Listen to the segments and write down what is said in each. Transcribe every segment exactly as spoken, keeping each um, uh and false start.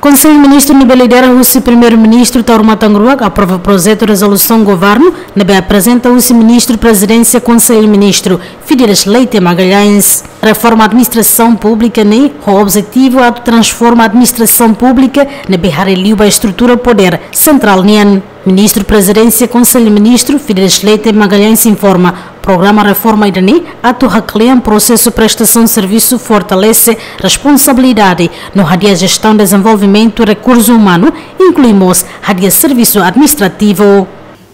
Konsellu Ministru ne'ebé lidera husi Primeiru-Ministru Taur Matan Ruak aprova projetu rezolusaun governu ne'ebé aprezenta husi Ministru Prezidénsia Konsellu Ministru, Fidelis Leite Magalhães. Reforma administrasaun públika ne'e ho objetivu atu transforma administrasaun públika ne'ebé haree liu ba estrutura podér sentrál nian. Ministru Prezidénsia Konsellu Ministru, Fidelis Leite Magalhães informa, programa reforma ida-ne'e atu haklean prosesu prestasaun servisu, fortalese responsabilidade no hadi'a jestaun dezenvolvimentu rekursu umanu, inklui mós hadi'a servisu administrativu.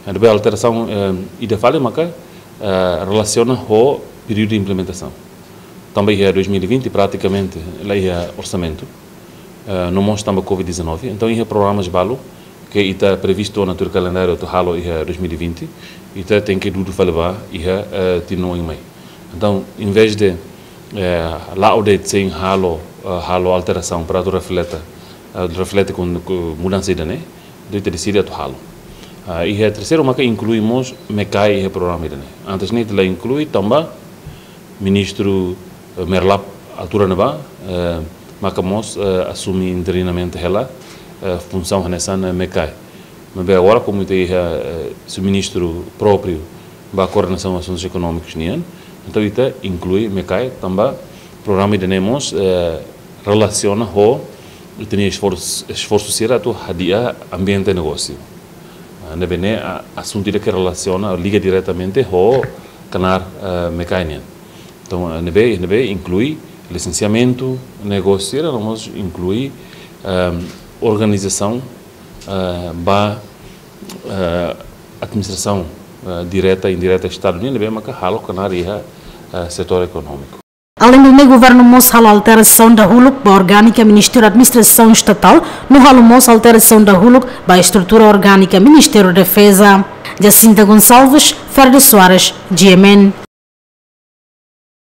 Ne'ebé alterasaun, eh, ida fali maka, eh, relasiona ho períodu de implementasaun. Tanba iha dois mil e vinte pratikamente la iha orsamentu, eh, no mós tanba covid dezanove. Entaun iha programas balu ke ita previstu ona tuir kalendáriu atu halo iha dois mil e vinte, ita tenke dudu fali ba iha, eh, tinan oin mai. Entaun, em vez de, eh, la'o de'it sein halo, eh, halo alterasaun para atu reflete, eh, reflete ho, ho mudansa ida-ne'e, entaun ita deside atu halo. Ah, iha terseiru maka inklui mós MECAE iha programa ida-ne'e. Antes ne'e ita la inklui tanba Ministru, eh, Merlap altura ne'ebá, eh, maka mós, eh, asume interinamente hela, eh, funsaun hanesan, eh, MECAE. Maibé agora, komu ita iha, eh, sub-ministru própriu ba koordenasaun asuntus ekonómikus nian, entaun ita inklui MECAE tanba programa ida-ne'e mós, eh, relasiona ho ita-nia esforsu, esforsu sira atu hadi'a ambiente negósiu. Ah, ne'ebé ne'e, ah, asuntu ida ke relasiona, liga diretamente ho knaar, eh, MECAE nian. Entaun, eh, ne'ebé, ne'ebé inklui lisensiamentu negósiu sira, no mós inklui, ehm, organizasaun, eh, ba, eh, administrasaun, eh, direta, indireta Estadu nian, ne'ebé maka halo knaar iha, eh, setór ekonómiku. Além do ne'e, governu mós halo alterasaun dahuluk ba orgánika Ministériu Administrasaun Estatál, no halo mós alterasaun dahuluk ba estrutura orgánika Ministériu Defeza. Jacinta Gonçalves, Ferdo Soares, G M N.